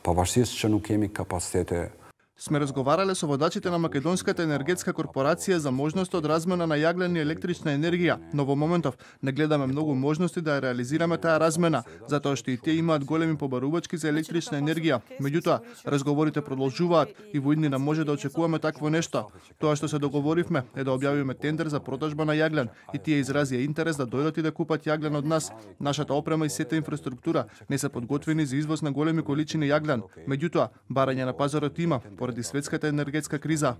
pavarësisht që nuk kemi kapacitete. Сме разговарале со водачите на Македонската енергетска корпорација за можноста од размена на јаглен и електрична енергија, но во моментов не гледаме многу можности да ја реализираме таа размена, затоа што и тие имаат големи побарувачки за електрична енергија. Меѓутоа, разговорите продолжуваат и во иднина може да очекуваме такво нешто. Тоа што се договоривме е да објавиме тендер за продажба на јаглен и тие изразија интерес да дојдат и да купат јаглен од нас. Нашата опрема и сета инфраструктура не се подготвени за извоз на големи количини јаглен. Меѓутоа, барање на пазарот има поради светската енергетска криза.